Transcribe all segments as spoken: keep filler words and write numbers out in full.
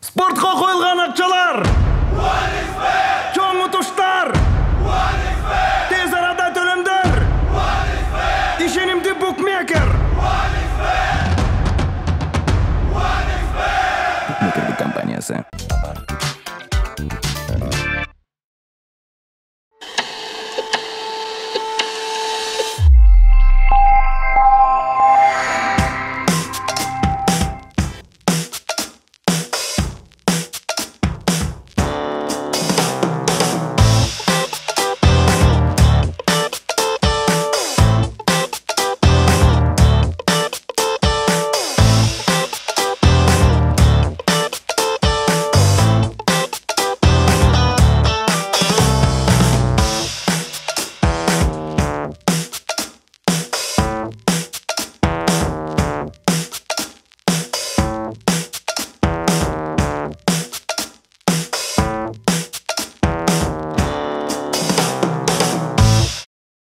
Спортко коюлган акчалар. Чоң утуштар. Тез арада төлөмдөр. Ишенимдүү букмекер. Букмекерлик компаниясы.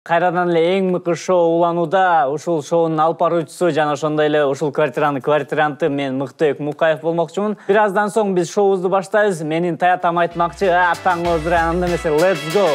Кайрадан эле эң мыкты шоу уланууда. Ушул шоунун алып баруучусу жана ошондой эле ушул квартиранын квартиранты мен Мыктыбек Мукаев болмокчумун. Бир аздан соң биз шоубузду баштайбыз. Менин таятам айтмакчы, атаң озура, анда эмесе let's go.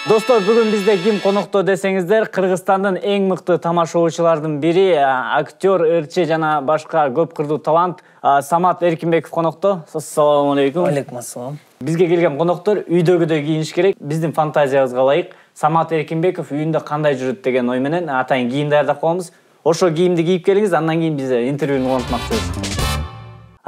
Достор, бүгүн бизде ким конокто десеңиздер, Кыргызстандын эң мыкты тамашоочулардын бири, актер, ырчы жана башка көп кырдуу талант Самат Эркинбеков конокто. Ассаламу алейкум. Алейкум ассалам. Бизге келген коноктор үйдөгүдөй кийиниш керек. Биздин фантазиябызга ылайык Самат Эркинбеков үйүндө кандай жүрөт деген ой менен атайын кийим даярдап коебуз. Ошо кийимди кийип келиңиз, андан кийин биз интервьюну улантмакчыбыз.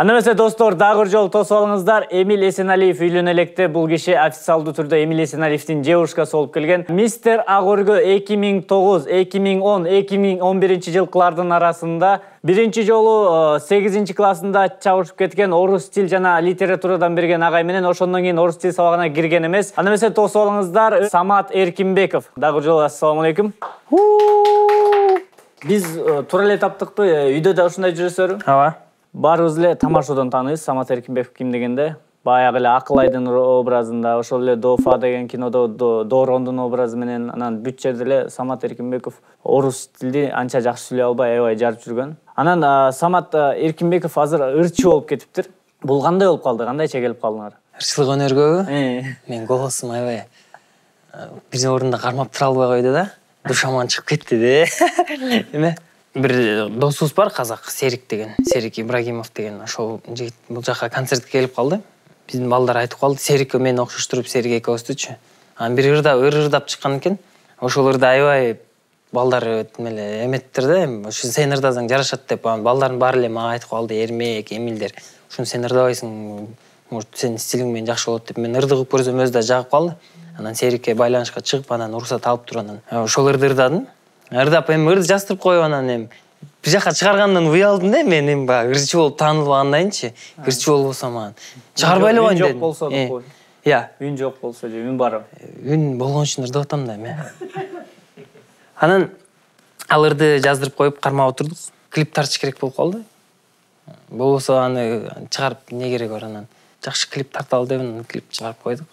Анда эмесе достор, дагы бир жолу тосуп алыңыздар. Эмиль Эсеналиев үйлөнө электе. Бул киши официалдуу түрдө Эмиль Эсеналиевдин девушкасы болуп келген. Мистер Ак өргө эки миң тогуз, эки миң он, эки миң он биринчи жылкылардын арасында биринчи жолу сегизинчи классында чабышып кеткен, орус тил жана литературадан берген агай менен ошондон кийин орус тил сабагына кирген эмес. Анда эмесе тосуп алыңыздар. Самат Эркинбеков. Дагы бир жолу ассаламу алейкум. Биз туура эле таптыкпы? Үйдө да ушундай жүрөсүзбү? Ооба. Баарыбыз эле тамашадан тааныйбыз Самат Эркинбеков ким дегенде. Баягы эле Акылайдын образында, ошол эле Дофа деген кинодо Дорондун образы менен, анан бүт жерде эле Самат Эркинбеков орус тилди анча жакшы сүйлөй албай аябай жарып жүргөн. Анан Самат Эркинбеков азыр ырчы болуп кетиптир. Бул кандай болуп калды? Кандайча келип калдыңар? Ырчылык өнөргө мен голосум аябай бир орунда кармап тура албай койду да. Душаман чыгып кетти де. Эме бир досубуз бар, казак, Серик деген, Серик Ибрагимов деген. Ошол жигит бул жака концертке келип калды. Биздин балдар айтып калды, Серикке мени окшоштуруп, Серик экөөбүздүчү. Анан бир ырда ыр-ырдап чыккан экен. Ошол ырда аябай балдар эле эметтир да, ушу сен ырдасаң жарашат деп, балдардын баары эле мага айтып калды, Эрмек, Эмилдер. Ушуну сен ырдабайсың, может, сенин стилиң менен жакшы болот деп. Мен ырдыгып көрсөм өзү да жагып калды. Анан Серикке байланышка чыгып, анан уруксат алып туруп, анан ошол ырды ырдадым. Ырдап эми ырды жаздырып коюп, анан эми бир жака чыгаргандан уялдым да, мен эми баягы ырчы болуп таанылбагандайынчы. Ырчы болбосом анан чыгарбай эле коеюн дедим. Үн жок болсо деп кой. Иә. Үн жок болсо же үн бар. Үн болгон үчүн ырдап атам да эми. Анан ал ырды жаздырып коюп кармап отурдук. Клип тартыш керек болуп калды. Болбосо аны чыгарып не керек бар, анан жакшы клип тарталы деп анан клип чыгарып койдук.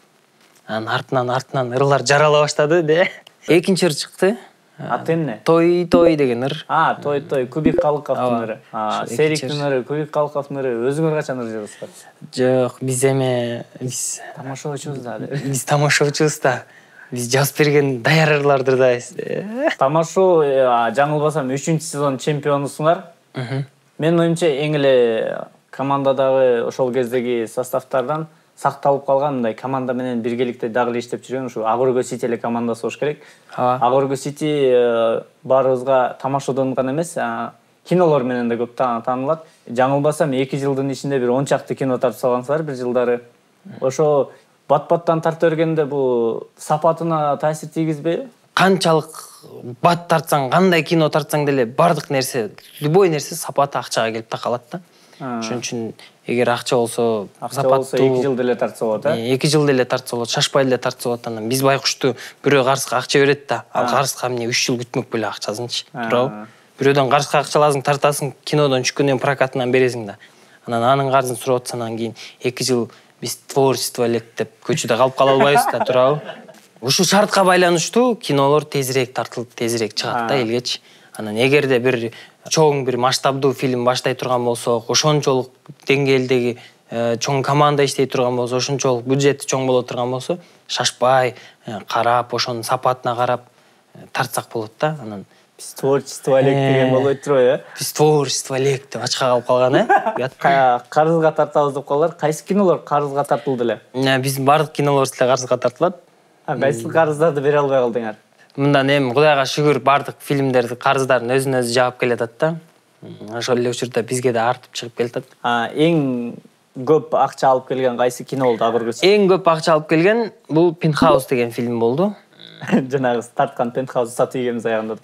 Анан артынан артынан ырлар жарала баштады де. Экинчи ыр чыкты. Аты эмне? Той той деген ыр. А, той той, Кубик Калыковдун ыры. А, Сериктин ыры, Кубик Калыковдун ыры. Өзүңөр качан ыр жазасыздар? Жок, биз эме биз тамашоочубуз да. Биз тамашоочубуз да. Биз жазып берген даяр ырларды ырдайбыз. Тамашоо, жаңылбасам, үчүнчү сезон чемпионусуңар. Менин оюмча эң эле командадагы ошол кездеги составтардан сакталып калган, мындай команда менен биргеликте дагы эле иштеп жүргөн ушу Ак өргө Сити эле командасы болуш керек. Ак өргө Сити баарыбызга тамашадан гана эмес, кинолор менен да көп таанылат. Жаңылбасам, эки жылдын ичинде бир он чакты кино тартып салгансыздар бир жылдары. Ошо бат-баттан тарта бергенде бул сапатына таасир тийгизбейби? Канчалык бат тартсаң, кандай кино тартсаң деле бардык нерсе, любой нерсе сапаты акчага келип такалат да. Ошон үчүн эгер акча болсо, сапаттуу эки жыл деле тартса болот, э? эки жыл деле тартса болот, шашпай деле тартса болот. Анан биз байкушту бирөө карызга акча берет да, ал карызга эмне үч жыл күтмөк беле акчасынчы, туурабы? Бирөөдөн карызга акча аласың, тартасың, кинодон түшкөндөн прокатынан бересиң да. Анан анын карызын сурап атсаң, анан кийин эки жыл биз творчество элек деп көчөдө калып кала албайбыз да, туурабы? Ушул шартка байланыштуу кинолор тезирээк тартылып, тезирээк чыгат да элгечи. Анан эгерде бир чоң бир масштабдуу фильм баштай турган болсок, ошончолук деңгээлдеги чоң команда иштей турган болсо, ошончолук бюджети чоң боло турган болсо, шашпай карап, ошонун сапатына карап тартсак болот да. Анан биз творчество элек деген болбойт турбайбы, э? Биз творчество элек деп ачка калып калган, э? Карызга тартабыз деп калалар. Кайсы кинолор карызга тартылды эле? Биздин бардык кинолорубуз деле карызга тартылат. А кайсы карыздарды бере албай калдыңар? Мындан эми Кудайга шүгүр бардык фильмдерди карыздарын өзүнө өзү жаап келатат да. Ошол эле учурда бизге да артып чыгып келатат. А эң көп акча алып келген кайсы кино болду акыркысы? Эң көп акча алып келген бул Penthouse деген фильм болду. Жанагы тарткан Penthouse сатып ийгенбиз аягында.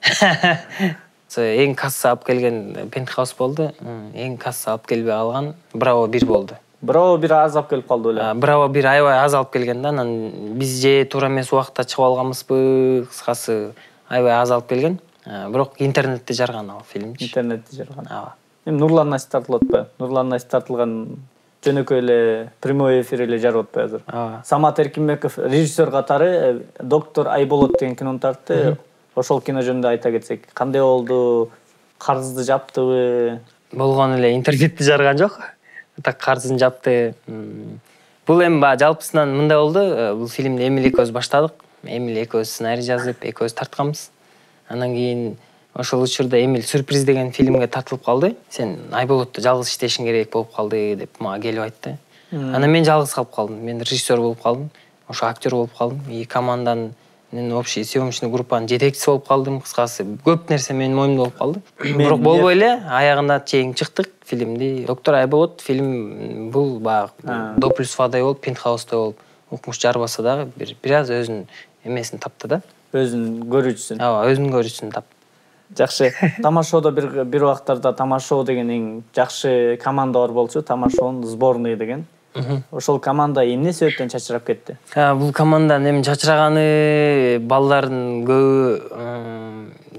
Эң касса алып келген Penthouse болду. Эң касса алып келбей калган Браво бир болду. Браво бир аз алып келип калды эле. Браво бир аябай аз алып келген да. Анан биз же туура эмес убакытта чыгып алганбызбы, кыскасы аябай аз алып келген. Бирок интернетте жарган ал фильмчи. Интернетте жарган. Ооба. Эми Нурлан Насип тартылып атпайбы? Нурлан Насип тартылган жөнөкөй эле прямой эфир эле жарып атпайбы азыр? Ооба. Самат Эркинбеков режиссер катары Доктор Айболот деген кинону тартты. Ошол кино жөнүндө айта кетсек, кандай болду? Карызды жаптыбы? Болгон эле интернетте жарган жок. Так карызын жапты. Бул эми баягы жалпысынан мындай болду. Бул фильмди Эмил экөөбүз баштадык. Эмил экөөбүз сценарий жазып, экөөбүз тартканбыз. Анан кийин ошол учурда Эмил Сюрприз деген фильмге тартылып калды. Сен Айболотто жалгыз иштешиң керек болуп калды деп мага келип айтты. Анан мен жалгыз калып калдым. Мен режиссер болуп калдым. Ошо актер болуп калдым. И команданын общий съемочный группанын жетекчиси болуп калдым. Кыскасы көп нерсе менин моюмда болуп калды. Бирок болбой эле аягына чейин чыктык фильмди. Доктор Айболот фильм бул баягы до плюс водой болуп, Penthouse болуп, укмуш жарбаса дагы бир бир аз өзүнүн эмесин тапты да. Өзүнүн көрүүчүсүн. Ооба, өзүнүн көрүүчүсүн тапты. Жакшы. Тамашоодо бир бир убактарда Тамашоо деген эң жакшы команда бар болчу, Тамашоонун сборный деген. Ошол команда эмне себептен чачырап кетти? Бул команданын эми чачыраганы балдардын көбү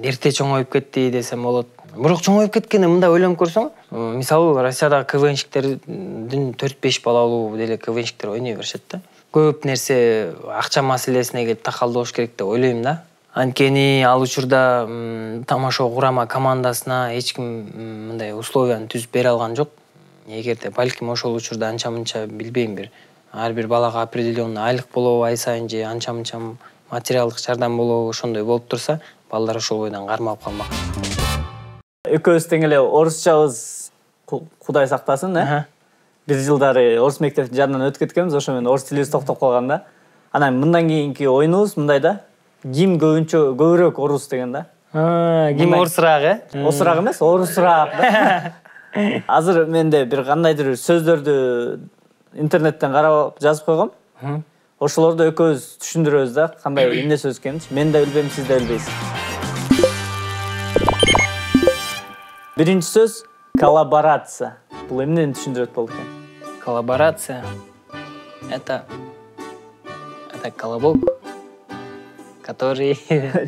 эрте чоңоюп кетти десем болот. Бирок чоңоюп кеткенде мындай ойлонуп көрсөң, мисалы Россиядагы КВНщиктердин төрт беш балалуу деле КВНщиктер ойной беришет да. Көп нерсе акча маселесине келип такалдоош керек деп ойлойм да. Анткени ал учурда Тамашоо курама командасына эч ким мындай условияны түзүп бере алган жок. Эгерде балким ошол учурда анча-мынча билбейм бир ар бир балага определенный айлык болобу, ай сайын же анча-мынча материалдык жардам болобу, ошондой болуп турса, балдар ошол бойдон кармалып калмак. Экөөбүз тең эле орусчабыз, Кудай сактасын, э? Бир жылдары орус мектептин жанынан өтүп кеткенбиз, ошо менен орус тилибиз токтоп калган да. Анан мындан кийинки оюнубуз мындай да. Ким көбүнчө көбүрөөк орус деген да. Ким орусураак, э? Орусураак эмес, орусураак да. Азыр менде бир кандайдыр сөздөрдү интернеттен карап жазып койгом. Ошолорду экөөбүз түшүндүрөбүз да, кандай эмне сөз экенин. Мен да билбейм, сиз да билбейсиз. Биринчи сөз коллаборация. Бул эмнени түшүндүрөт болду экен? Коллаборация это это колобок, который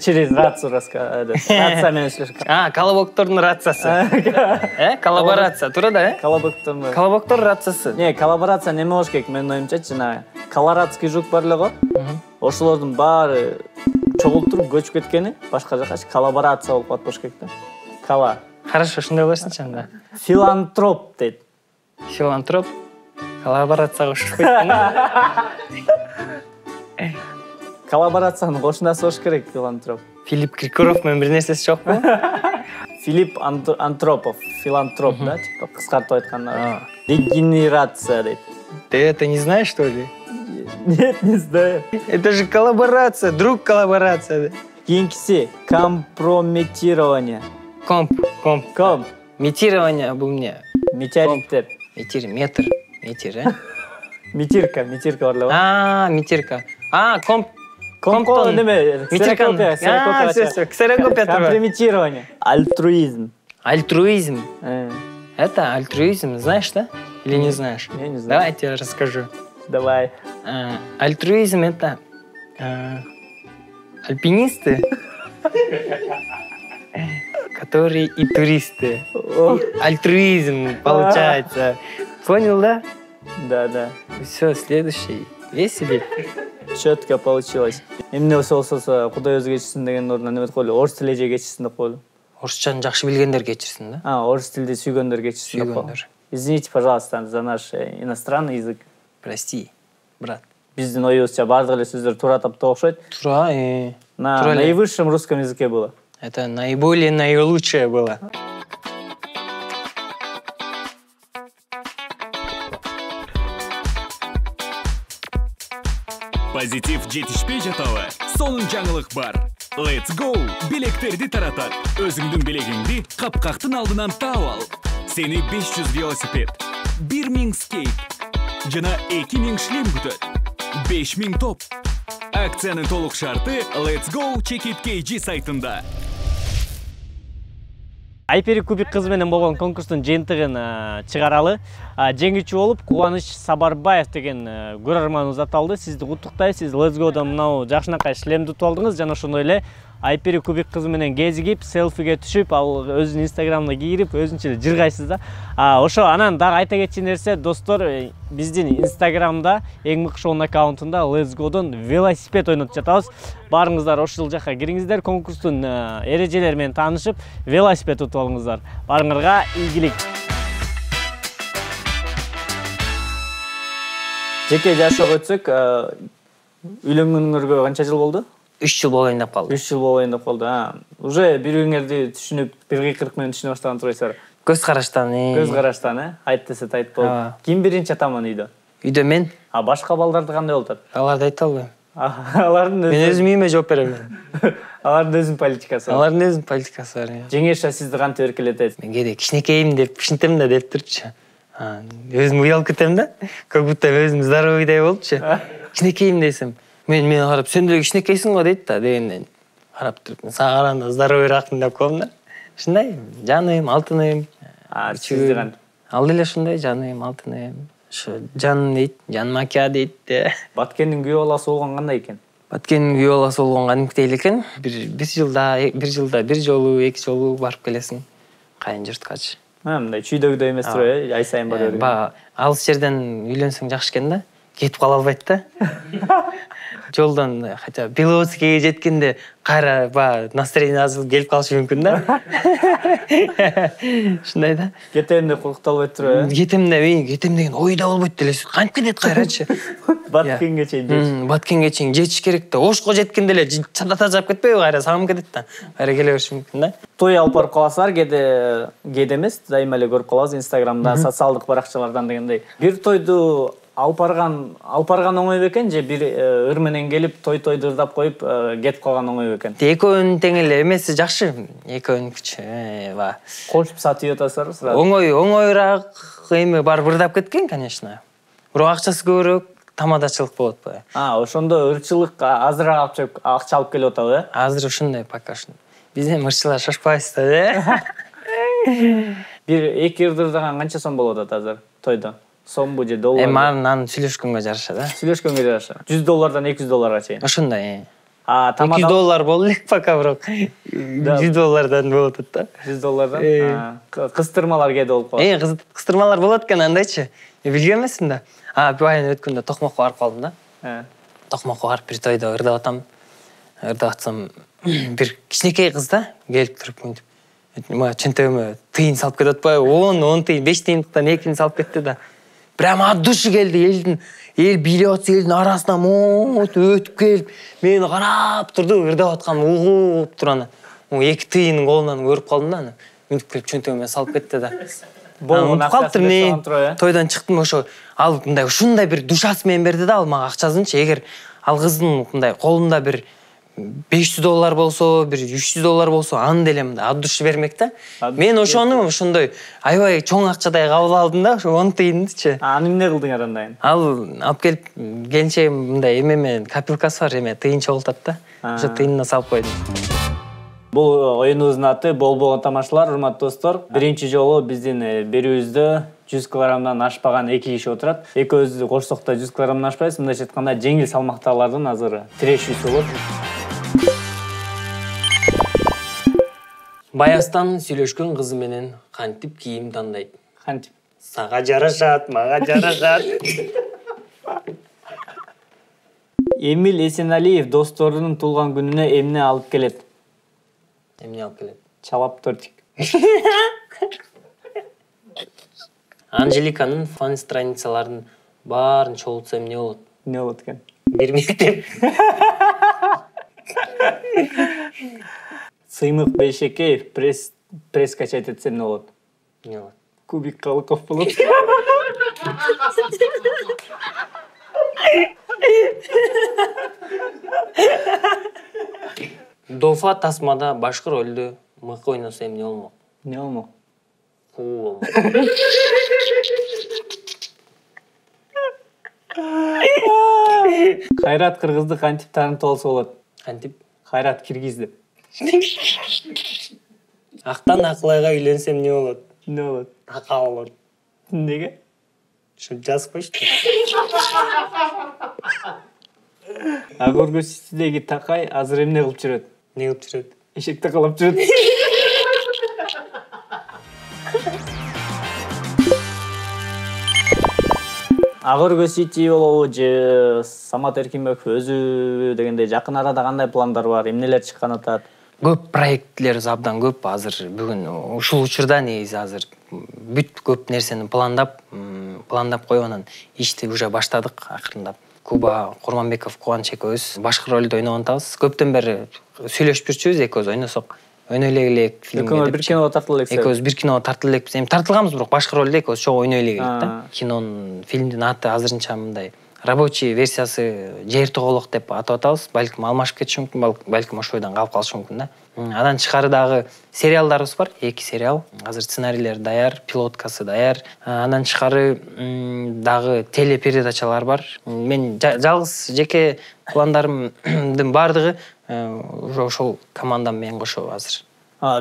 через рацию рассказывает. Рация менен сөйлөшкөн. А, колобоктордун рациясы. Э, коллаборация, туура да, э? Колобоктордун. Колобоктор рациясы. Не, коллаборация неме болуш керек? Менин оюмча, жана колорадский жук бар эле го. Ошолордун баары чогултуруп көчүп кеткени башка жака коллаборация болуп калат болуш керек да. Кола. Хорошо, шундай болсунчу анда. Филантроп дейт. Филантроп коллаборацияга кошушпайт да. Коллаборацияны кошунасы болуш керек, филантроп. Филипп Киркоров менен бир нерсеси жокпу? Филипп Антропов, филантроп да, типа кыскартып айтканда. Регенерация дейт. Ты это не знаешь, что ли? Нет, не знаю. Это же коллаборация, друг коллаборация. Кийинкиси компрометирование. Комп, комп. Комп. Метирование бул эмне? Метеориттер. Метир, метр, метир, э? Метирка, метирка бар эле. А, метирка. А, комп. Комптон неме? Метиркопия, ксерокопия. Компрометирование. Альтруизм. Альтруизм. Это альтруизм, знаешь, да? Или не знаешь? Я не знаю. Давай я тебе расскажу. Давай. Альтруизм это альпинисты, которые и туристы. Альтруизм получается. Понял, да? Да, да. Все, следующий. Веселей. Четко получилось. Эмне болсо болсо Кудай өзү кечирсин деген ордуна неме деп койлу, орус тили эже кечирсин деп койлу. Орусчаны жакшы билгендер кечирсин да. А, орус тилди сүйгөндөр кечирсин деп коебу. Извините, пожалуйста, за наш иностранный язык. Прости, брат. Биздин оюбузча бардык эле сөздөр туура таптоо окшойт. Туура, э. На наивысшем русском языке было. Это наиболее наилучшее было. Позитив жетишпей жатабы? Сонун жаңылык бар. Let's go! Билектерди таратат. Өзүңдүн билегиңди капкактын алдынан таап ал. Сени беш жүз велосипед, бир миң скейт жана эки миң шлем күтөт. беш миң топ. Акциянын толук шарты Let's go Check It кей джи сайтында. Айпери кубик кызы менен болгон конкурстун жыйынтыгын чыгаралы. Жеңүүчү болуп Кубаныч Сабарбаев деген көрөрманыбыз аталды. Сизди куттуктайбыз. Сиз Let's Go'дан мынау жакшынакай шлемди утуп алдыңыз жана ошондой эле Айпери кубик кызы менен кезигип, селфиге түшүп, ал өзүнүн инстаграмына кирип, өзүнчө эле жыргайсыз да. Ошо анан дагы айта кетчү нерсе, достор, биздин инстаграмда эң мыкты шоунун аккаунтунда Let's Go'дон велосипед ойнотуп жатабыз. Барыңыздар ошол жака кириңиздер, конкурстун эрежелери менен таанышып, велосипед утуп алыңыздар. Барыңарга ийгилик. Жеке жашоого өтсөк, үйлөнгөнүңөргө канча жыл болду? үч жыл болайын деп калды. үч жыл болайын деп калды. Уже бири-бириңерди түшүнүп, бир кыйкырык менен түшүнө баштаган турбайсыздар. Көз караштан, э. Көз караштан, э. Айт десе тайт болуп. Ким биринчи атаман үйдө? Үйдө мен. А башка балдарды кандай болуп атат? Аларды айта албайм. Алардын Мен өзүм үйүмө жооп берем. Алардын өзүнүн политикасы бар. Алардын өзүнүн политикасы бар. Жеңеше сизди кантип эркелетет? Мен кээде кичинекейим деп кичинтем да деп турчу. Өзүм уялып кетем да. Как будто өзүм здоровыйдай болупчу. Кичинекейим десем, мен мен карап, сен деле кичинекейсиң го дейт да, дегенден карап туруп, сага караганда здоровыйраакмын деп коем да. Ушундай, жаным, алтыным. А, сизди кантип? Ал деле ушундай, жаным, алтыным. Ошо жаным дейт, жаным ака дейт. Баткендин күйөө баласы болгон кандай экен? Баткендин күйөө баласы болгон кадимкидей эле экен. Бир бир жылда, бир жылда бир жолу, эки жолу барып келесиң. Кайын журткачы. Мындай чүйдөгүдөй эмес турбайбы? Ай сайын бара берген. Ба, алыс жерден үйлөнсөң жакшы экен да. Кетип кала албайт да. Жолдон хотя Беловодскийге жеткенде кайра ба настроение азып келип калышы мүмкүн да. Ушундай да. Кетем деп коркуталбайт турбайбы? Кетем деп, кетем деген ойда болбойт делесиз. Кантип кетет кайрачы? Баткенге чейин. Баткенге чейин жетиш керек да. Ошко жеткенде эле чатата жап кетпейби кайра сагым кетет да. Кайра келе бериши мүмкүн да. Той алып барып каласыздар, кээде кээде эмес, дайыма эле көрүп калабыз Инстаграмда, социалдык баракчалардан дегендей. Бир тойду алып барган, алып барган оңой бекен же бир ыр менен келип той-тойду ырдап коюп кетип калган оңой бекен? Экөөнүн тең эле эмеси жакшы. Экөөнүнкүчү, ба. Кошуп сатып атасыздар сразу. Оңой, оңойраак эме барып ырдап кеткен, конечно. Бирок акчасы көбүрөөк, тамадачылык болот да. А, ошондо ырчылык азыраак акча алып келип атабы, э? Азыр ушундай пока что. Биз эми ырчылар шашпайбыз да, э? Бир эки ырды ырдаган канча сом болот атат азыр тойдо? Сомбу же доллар? Эми анын сүйлөшкөнгө жараша да. Сүйлөшкөнгө жараша. жүз доллардан эки жүз долларга чейин. Ошондой. А, тамада эки жүз доллар болду элек пока бирок. жүз доллардан болот атат да. жүз доллардан. Кыстырмалар кээде болуп калат. Э, кыстырмалар болот экен андайчы. Билген эмесмин да. А, байын өткөндө Токмокко барып калдым да. Э. Токмокко барып бир тойдо ырдап атам. Ырдап атсам, бир кичинекей кыз да келип туруп мынтип. Мага чөнтөгүмө тыйын салып кетип атпайбы? он, он тыйын, беш тыйындыктан экини салып кетти да. Прямо от души келди, элдин, эл бийлеп атса элдин арасынан моот өтүп келип, мени карап турду, ырдап аткан угуп турган. эки тыйынын колунан көрүп калдым да, мынтип келип чөнтөгүмө салып кетти да. Болуп калыптыр мен. Тойдон чыктым, ошо ал мындай ушундай бир душасы менен берди да, ал мага акчасынчы. Эгер ал кыздын мындай колунда бир беш жүз доллар болсо, бир үч жүз доллар болсо, аны деле мындай от души бермек да. Мен ошону ошондой аябай чоң акчадай кабыл алдым да, ошо он тыйындычы. Аны эмне кылдың андан? Ал алып келип келинче мындай эме менен копилкасы бар, эме тыйынча болуп атат да. Ошо тыйынына салып койдум. Бул оюнубуздун аты Бол-болгон тамашалар, урматтуу достор. Биринчи жолу биздин берүүбүздө жүз килограммдан ашпаган эки киши отурат. Экөөбүз кошсок да жүз килограммдан ашпайбыз. Мындайча айтканда жеңил салмактагылардын азыр тирешүүсү болот. Баястан сүйлөшкөн кызы менен кантип кийим тандайт? Кантип? Сага жарашат, мага жарашат. Эмил Эсеналиев досторунун туулган күнүнө эмне алып келет? Эмне алып келет? Чалап тортик. Анжеликанын фан страницаларын баарын чогултсам эмне болот? Не болот экен? Бир мектеп. Сыймык Бейшекеев пресс пресс качать этсе эмне болот? Эмне болот? Кубик Калыков болот. Дофа тасмада башкы ролду мыкы ойносо эмне болмок? Не болмок? Куу болмок. Кайрат кыргызды кантип таанытып алса болот? Кантип? Кайрат киргиз деп. Актан Акылайга үйлөнсөм эмне болот? Не болот? Ака болот. Неге? Ушинтип жазып коюшту. Агорго Ситидеги Такай азыр эмне кылып жүрөт? Не кылып жүрөт? Эшекте калып жүрөт. Агорго Сити болобу же Самат Эркинбеков өзү дегендей жакын арада кандай пландар бар? Эмнелер чыккан атат? Көп проектлер абдан көп азыр бүгүн ушул учурда негизи азыр бүт көп нерсени пландап, пландап коюп анан ишти уже баштадык акырындап. Куба Курманбеков Кубаныч экөөбүз башкы ролду ойногон атабыз. Көптөн бери сүйлөшүп жүрчүбүз, экөөбүз ойносок, ойной элек фильмге. Экөөбүз бир киного тартыла элек. Экөөбүз бир киного тартыла элекпиз. Эми тартылганбыз, бирок башкы ролду экөөбүз чогуу ойной элек да. Кинонун, фильмдин аты азырынча мындай рабочий версиясы Жер тоголок деп атап атабыз. Балким алмашып кетиши мүмкүн, балким ошол бойдон калып калышы мүмкүн да. Андан тышкары дагы сериалдарыбыз бар, эки сериал. Азыр сценарийлер даяр, пилоткасы даяр. Андан тышкары дагы телепередачалар бар. Мен жалгыз жеке пландарымдын бардыгы ошол командам менен кошо азыр.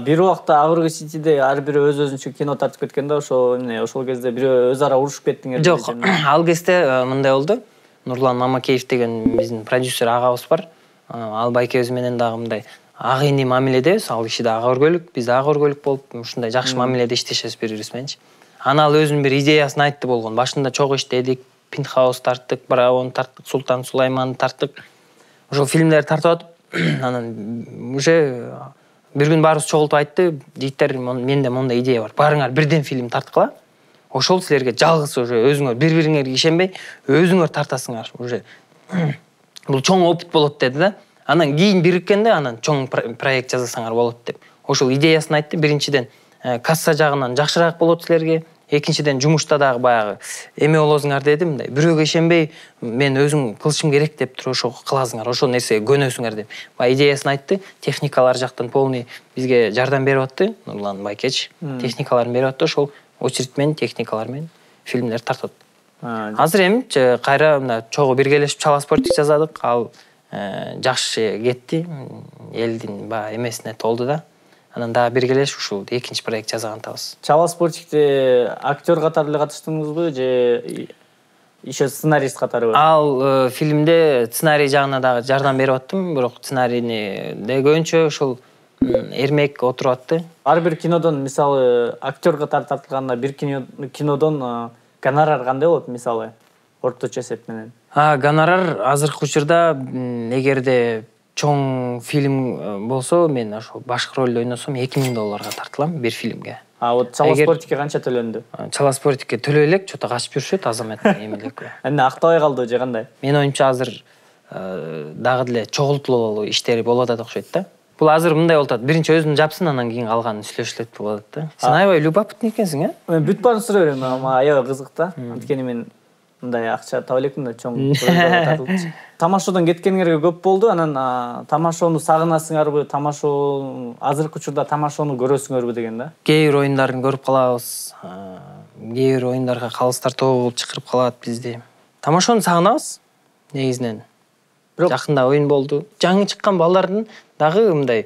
Бир убакта Агорго Ситиде ар бири өз өзүнчө кино тартып кеткен да, ошо эмне, ошол кезде бирөө өз ара урушуп кеттиңер. Жок, ал кезде мындай болду. Нурлан Мамакеев деген биздин продюсер агабыз бар. Ал байкебиз менен дагы мындай ак ини мамиледебиз. Ал киши да ага өргөлүк, биз да ага өргөлүк болуп, ушундай жакшы мамиледе иштешебиз бири-бирибиз мененчи. Аны ал өзүнүн бир идеясын айтты болгон. Башында чогуу иштедик, Пентхаус тарттык, Браун тарттык, Султан Сулайман тарттык. Ошол фильмдерди тартып атып, анан уже бир күн баарыбыз чогултуп айтты, жигиттер, менде мондай идея бар. Барыңар бирден фильм тарткыла. Ошол силерге жалгыз уже өзүңөр бири-бириңерге ишенбей, өзүңөр тартасыңар уже. Бул чоң опыт болот деди да. Анан кийин бириккенде анан чоң проект жасасаңар болот деп. Ошол идеясын айтты. Биринчиден касса жагынан жакшыраак болот силерге. Экинчиден жумушта дагы баягы эме болосуңар деди, мындай бирөөгө ишенбей, мен өзүм кылышым керек деп туруп ошо кыласыңар, ошол нерсеге көнөсүңөр деп. Баягы идеясын айтты. Техникалар жактан полный бизге жардам берип атты. Нурлан Байкеч техникаларын берип атты. Ошол очередь менен, техникалар менен фильмдер тартып атты. Азыр эми кайра мына чогуу биргелешип Чала Спортик жазадык. Ал жакшы кетти. Элдин баягы эмесине толду да. Анан дагы биргелешип ушул экинчи проект жазган атабыз. Чала Спортикте актер катары эле катыштыңызбы же иши сценарист катарыбы? Ал фильмде сценарий жагына дагы жардам берип аттым, бирок сценарийни де көбүнчө ушул Эрмек отуруп атты. Ар бир кинодон, мисалы, актер катары тартылганда бир кинодон гонорар кандай болот, мисалы, орточо эсеп менен? А, гонорар азыркы учурда эгерде чоң фильм болсо, мен ошо башкы ролду ойносом эки миң долларга тартылам бир фильмге. А вот Чала Спортикке канча төлөндү? Чала Спортикке төлөй элек, чото качып жүрүшөт азамат эми элек. Эмне актабай калды же кандай? Мен оюмча азыр дагы деле чогултулуу иштери болуп атат окшойт да. Бул азыр мындай болуп атат. Биринчи өзүн жапсын, анан кийин калганын сүйлөшүлөт болуп атат да. Сен аябай любопытный экенсиң, а? Мен бүт баарын сурай берем, ама аябай кызык да. Анткени мен мындай акча таба элекмин да, чоң тартылчу. Тамашодон кеткениңерге көп болду. Анан тамашону сагынасыңарбы? Тамашоо азыркы учурда тамашону көрөсүңөрбү деген да. Кээ бир оюндарын көрүп калабыз. Кээ бир оюндарга калыстар тобу чакырып калат бизди. Тамашону сагынабыз негизинен. Бирок жакында оюн болду. Жаңы чыккан балдардын дагы мындай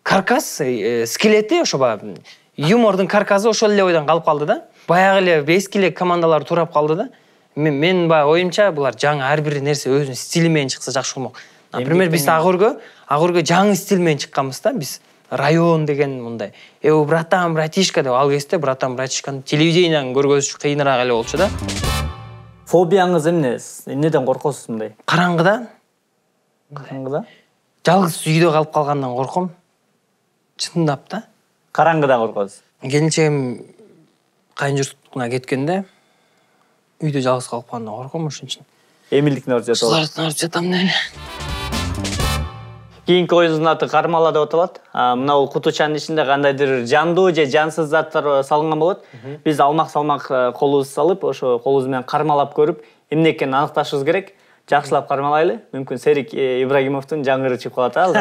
каркас, скелети ошо баягы юмордун каркасы ошол эле ойдон калып калды да. Баягы эле эски эле командалар турап калды да. Мен баягы оюмча булар жаңы ар бир нерсе өзүнүн стили менен чыкса жакшы болмок. Например, биз Агорго, Агорго жаңы стиль менен чыкканбыз да. Биз район деген мындай. Э, братан, братишка деп ал кезде братан, братишканы телевидениеден көргөзүш кыйыныраак эле болчу да. Фобияңыз эмне? Эмнеден коркосуз мындай? Караңгыдан. Караңгыда? Жалгыз үйдө калып калгандан корком. Чындап да. Караңгыда коркосуз. Келинчегим кайын журтуна кеткенде үйдө жалгыз калып калганда корком ошон үчүн. Эмилдиктин ордуна жатам. Кызлардын ордуна жатам эле. Кийинки оюбуздун аты кармала деп аталат. Мына бул кутучанын ичинде кандайдыр жандуу же жансыз заттар салынган болот. Биз алмак-салмак колубузду салып, ошо колубуз менен кармалап көрүп, эмне экенин аныкташыбыз керек. Жакшылап кармалайлы. Мүмкүн Серик Ибрагимовдун жаңгыры чыгып калат ал.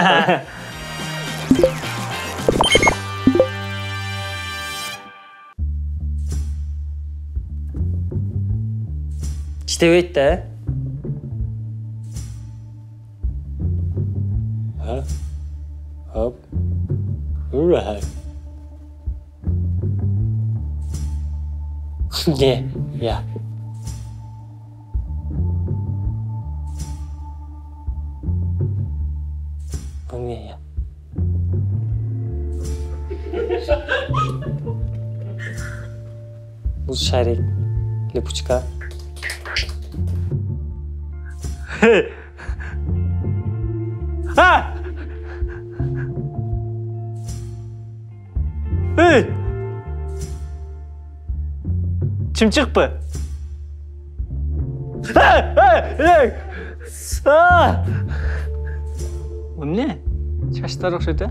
Иштебейт да. Huh? Up. Right. Yeah, yeah. Oh, yeah, yeah. Бул шарик, липучка. Ha! Hey! Чымчыкпы? Hey! Hey! Ah! Bu ne? Çaşlar okşaydı.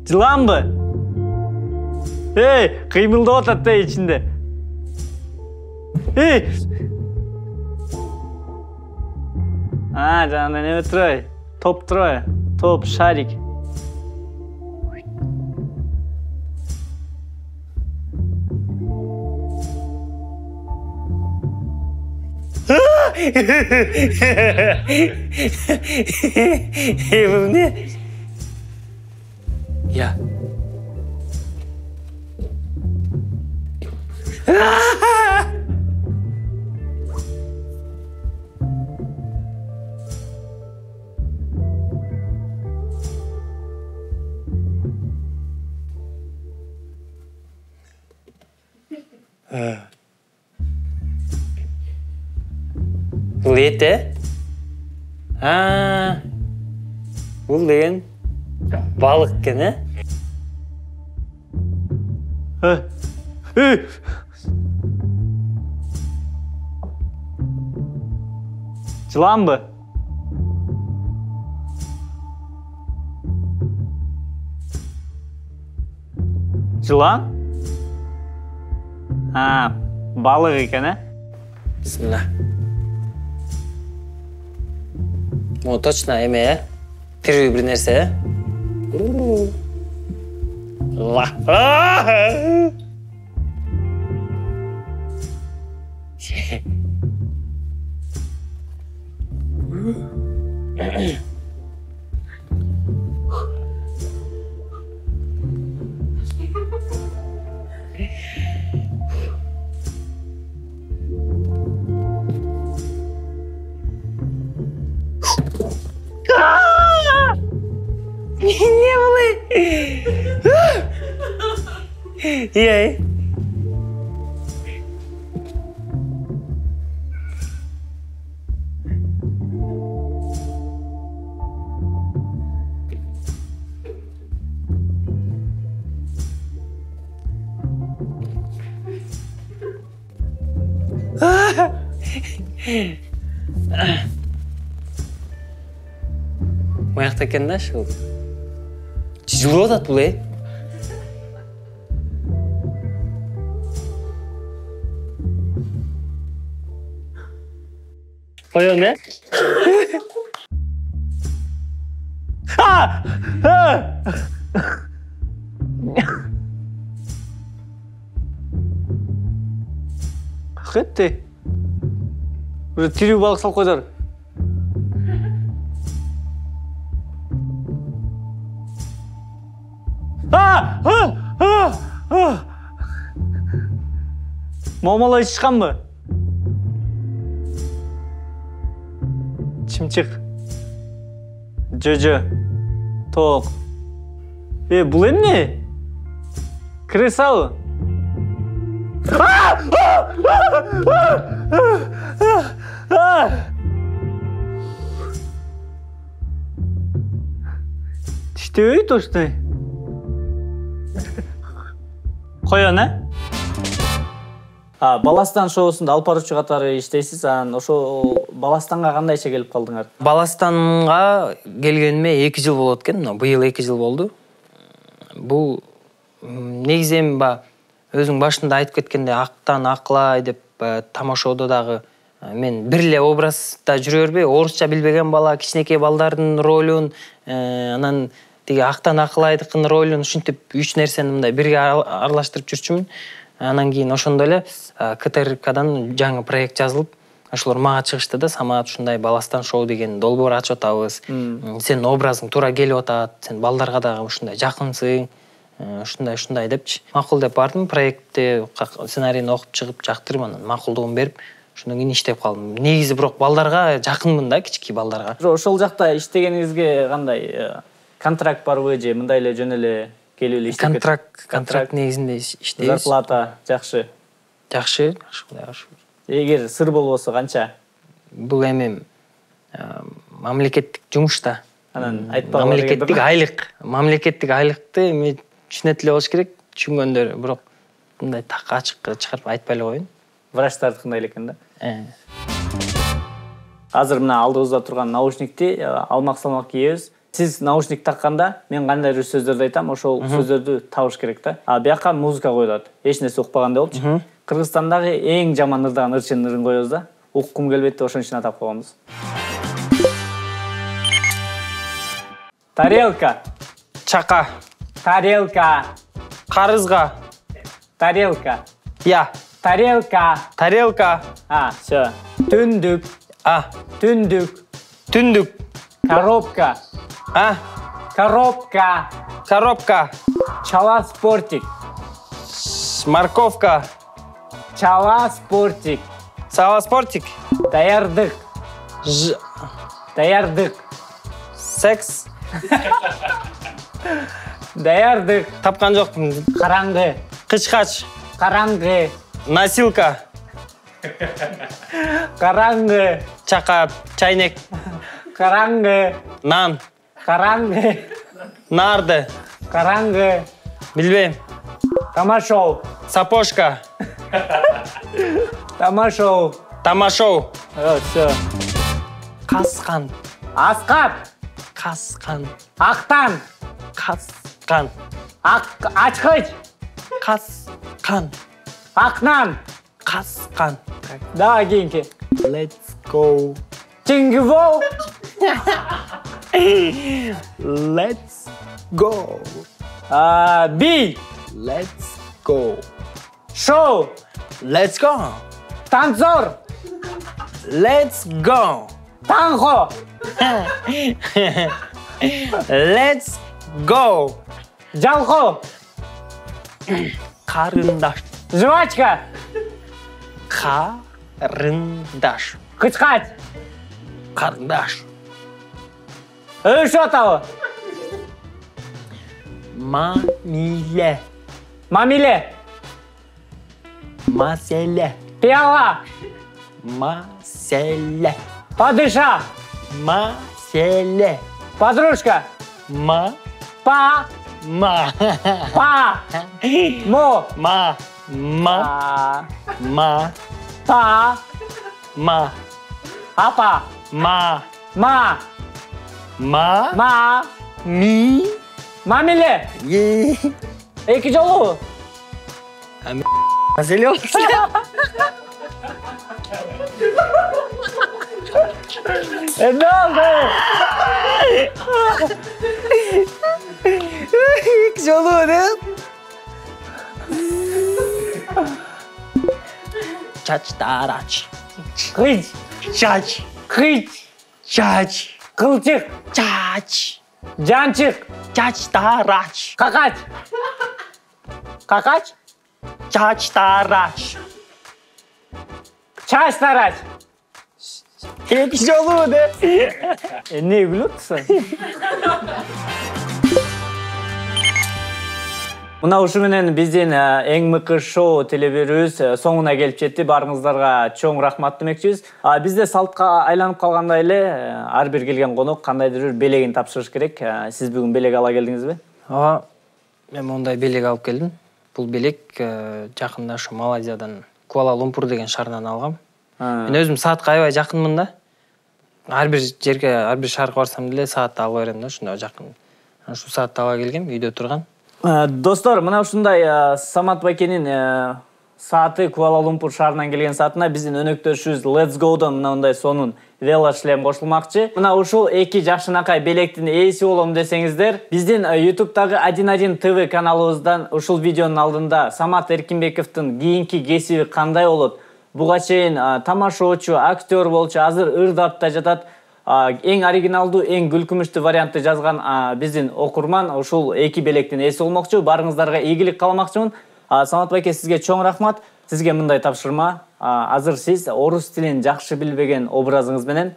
Жылан mı? Hey! Kıymıldап атат да içinde. Hey! А, жаңағыдай неме тұрай. Топ тұрай. Топ, шарик. Бұл не? Я. Бұл еті? А, бұл деген балық екен, ә? Жылан бы? Жылан? А, балық екен, ә? Бисмилlah. Бұл точно еме, ә? Тірі бір нәрсе, ә? Ла. Не было? Ей. Мояқта екен да шыл. Жылып атат бұл, е? Қойон, е? Қетті? Уже тирүү балық сал қойдар. Момалай шыққан бы? Чымчық. Жö-жö. Тоқ. Е, бұл емне? Кресау. Иштебейт оштой. Коён, э? А, Баластан шоусунда алып баруучу катары иштейсиз. Анан ошо Баластанга кандайча келип калдыңар? Баластанга келгениме эки жыл болот экен. Быйыл эки жыл болду. Бул негизи эми ба өзүң башында айтып кеткендей актан акылай деп тамашоодо дагы мен бир эле образда жүрө бербей, орусча билбеген бала, кичинекей балдардын ролун, анан тиги актан акылайдыкын ролун ушинтип үч нерсени мындай бирге аралаштырып жүрчүмүн. Анан кийин ошондо эле КТРКдан жаңы проект жазылып, ошолор мага чыгышты да, Самат ушундай Баластан шоу деген долбоор ачып атабыз. Сенин образың туура келип атат, сен балдарга дагы ушундай жакынсың. Ушундай ушундай депчи. Макул деп бардым, проектти сценарийин окуп чыгып жактырып, анан макулдугун берип, ошондон кийин иштеп калдым. Негизи бирок балдарга жакынмын да, кички балдарга. Ошол жакта иштегениңизге кандай контракт барбы же мындай эле жөн эле келип эле иштеп? Контракт, контракт негизинде иштейбиз. Зарплата жакшы. Жакшы, жакшы. Эгер сыр болбосо канча? Бул эми мамлекеттик жумушта. Анан айтпагыла. Мамлекеттик айлык. Мамлекеттик айлыкты эми түшүнөт эле болуш керек, түшүнгөндөр, бирок мындай так ачык чыгарып айтпай эле коеюн. Врачтардыкындай эле экен да. Азыр мына алдыбызда турган наушникти алмак-салмак кийебиз. Сиз наушник такканда мен кандайдыр сөздөрдү айтам, ошол сөздөрдү табыш керек да. А бияка музыка коюлат. Эч нерсе укпагандай болчу. Кыргызстандагы эң жаман ырдаган ырчынын ырын коебуз да. Уккум келбейт деп ошон үчүн атап койгонбуз. Тарелка. Чака. Тарелка. Карызга. Тарелка. Я. Тарелка. Тарелка. А, всё. Түндүк. А. Түндүк. Түндүк. Коробка. А. Коробка. Коробка. Чала спортик. Морковка. Чала спортик. Сала спортик. Даярдык. Ж. Даярдык. Секс. Даярдык. Тапкан жокмун. Караңгы. Кычкач. Караңгы. Носилка. Караңгы. Чака. Чайнек. Караңгы. Нан. Караңгы. Нарды. Караңгы. Билбейм. Тамашоу. Сапожка. Тамашоу. Тамашоу. Вот, всё. Каскан. Аскат. Каскан. Актан. Каскан. Ак ачкыч. Каскан. Акнан. Каскан. Давай кийинки. Let's go. Чингвол. Let's go. А, би. Let's go. Шоу. Let's go. Танцор. Let's go. Танго. Let's go. Жалко. Карындаш. Жвачка. Карындаш. Кычкач. Карындаш. Өшүп атабы. Мамиле. Мамиле. Маселе. Пиала. Маселе. Падыша. Маселе. Подружка. Ма. Па. Ма. Па. Мо. Ма. Ма. А. Ма. Па. Ма. Апа. Ма. Ма. Ма. Ма. Ми. Мамиле. Е. Эки жолу. Маселе болуш. Эмне болду? Эки жолу деп. Чач тарач. Кыч. Чач. Кыч. Чач. Кылчык. Чач. Жанчык. Чач тарач. Какач. Какач. Чач тарач. Чач тарач. Эки жолу деп. Эмне күлүп атасың? Мына ушу менен биздин эң мыкты шоу телебирүүбүз соңуна келип жетти. Барыңыздарга чоң рахмат демекчибиз. Бизде салтка айланып калгандай эле ар бир келген конок кандайдыр бир белегин тапшырыш керек. Сиз бүгүн белек ала келдиңизби? Ооба, мен мондай белек алып келдим. Бул белек жакында ушу Малайзиядан Куала-Лумпур деген шаардан алгам. Мен өзүм саатка аябай жакынмын да. Ар бир жерге, ар бир шаарга барсам деле саатты ала берем да, ошондой жакын. Ушу саатты ала келгем, үйдө турган. Достор, мына ушундай Самат байкенин сааты Куала-Лумпур шаарынан келген саатына биздин өнөктөшүбүз Let's Go'дон мындай сонун велошлем кошулмакчы. Мына ушул эки жакшынакай белектин ээси болом десеңиздер, биздин YouTube-дагы один один тэ вэ каналыбыздан ушул видеонун алдында Самат Эркинбековдун кийинки кесиби кандай болот, буга чейин тамашоочу, актер болчу, азыр ырдап жатат. Эң оригиналдуу, эң күлкүмүштүү вариантты жазган биздин окурман ушул эки белектин ээси болмокчу. Барыңыздарга ийгилик кааламакчымын. Самат байке, сизге чоң рахмат. Сизге мындай тапшырма. Азыр сиз орус тилин жакшы билбеген образыңыз менен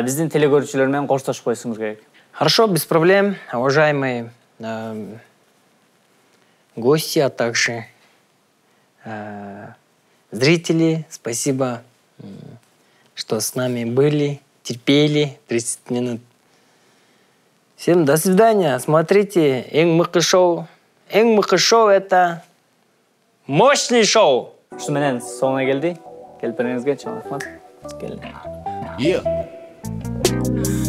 биздин телекөрүүчүлөр менен коштошуп койсуңуз керек. Хорошо, без проблем. Уважаемые гости, а также зрители, спасибо, что с нами были. Терпели тридцать минут. Всем до свидания. Смотрите, эң мыкты шоу. Эң мыкты шоу — это мощный шоу. Ушу менен соңуна келди. Келиңизге чоң рахмат. Келди. Yeah.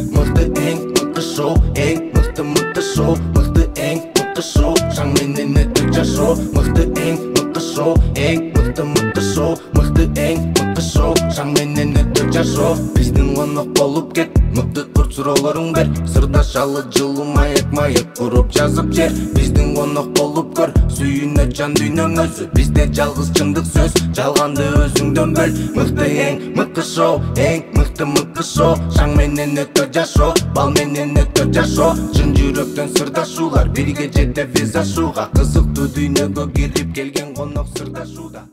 Мыкты эң мыкты шоу, эң мыкты мыкты шоу, мыкты эң мыкты шоу, шаң менен өтүп жашоо. Мыкты эң мыкты шоу, эң мыкты мыкты шоу, мыкты эң мыкты шоу, шаң менен өтүп жашоо. Биздин конок болуп кет, мыкты курт суроолоруң бер, сырдашалы жылуу маек маек куруп жазып жер. Биздин конок болуп көр, сүйүнө жан дүйнөң өзү, бизде жалгыз чындык сөз, жалганды өзүңдөн бөл. Мыкты эң мыкты шоу, эң мыкты мыкты шоу, шаң менен өтө жашоо, бал менен өтө жашоо. Чын жүрөктөн сырдашуулар, бирге жетебиз ашууга, кызыктуу дүйнөгө кирип келген конок сырдашууда.